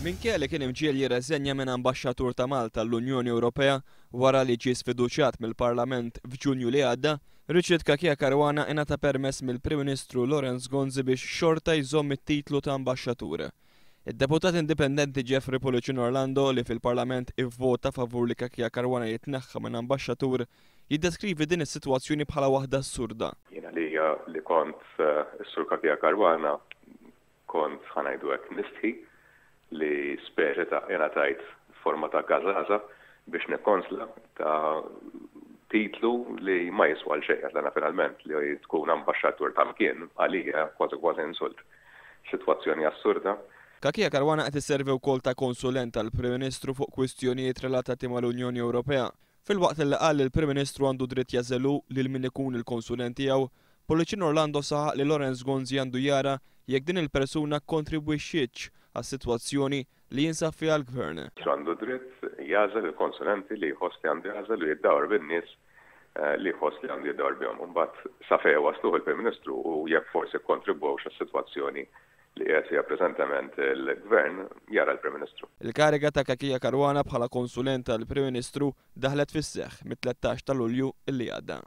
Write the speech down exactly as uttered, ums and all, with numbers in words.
Minkejja li kien imġiegħel jirreżenja minn ambaxxatur ta' Malta l-Unjoni Ewropea wara li ġie sfiduċjat mill-Parlament f'Ġunju li għadda, Richard Cachia Caruana ingħata permess mill-Prim Ministru Lawrence Gonzi biex xorta jżomm it-titlu ta' ambaxxatur. Id-deputat indipendenti Jeffrey Pullicino Orlando, li fil-Parlament ivvota favur li Cachia Caruana jitneħħa minn ambaxxatur, jiddeskrivi din is-sitwazzjoni bħala waħda assurda. Jiena li li kont is-Sur Cachia Caruana kont, ħa ngħidu hekk, nistħi li speċi ta' jena tajt forma ta' gażaża biex nikkonsla ta' titlu li ma jiswa xejn, għax finalment li tkun ambaxxatur ta' mkien għalija kważi kważi insult. Sitwazzjoni assurda. Cachia Caruana qed isservi wkoll ta' konsulent tal-Prim Ministru fuq kwistjonijiet relatati mal-Unjoni Ewropea. Filwaqt li qal li l-Prim Ministru għandu dritt jagħżel hu lil min ikun il-konsulent tiegħu, Pullicino Orlando saħaq li Lawrence Gonzi għandu jara jekk din il-persuna kontribwixxietx għas-sitwazzjoni li jinsab fiha l-gvern. Għandu dritt jagħżel il-konsulenti li jħoss li għandu jagħżel u jiddawar bin-nies li jħoss li għandu jiddawar bihom. Imbagħad sa fejn wasluh il-Prim Ministru u jekk forsi kontribwewx għas-sitwazzjoni li qiegħed fiha preżentament il-gvern, jara l-Prim Ministru. Il-kariga ta' Cachia Caruana bħala konsulent tal-Prim Ministru daħlet fis-seħħ mit-tlettax ta' Lulju illi għadda.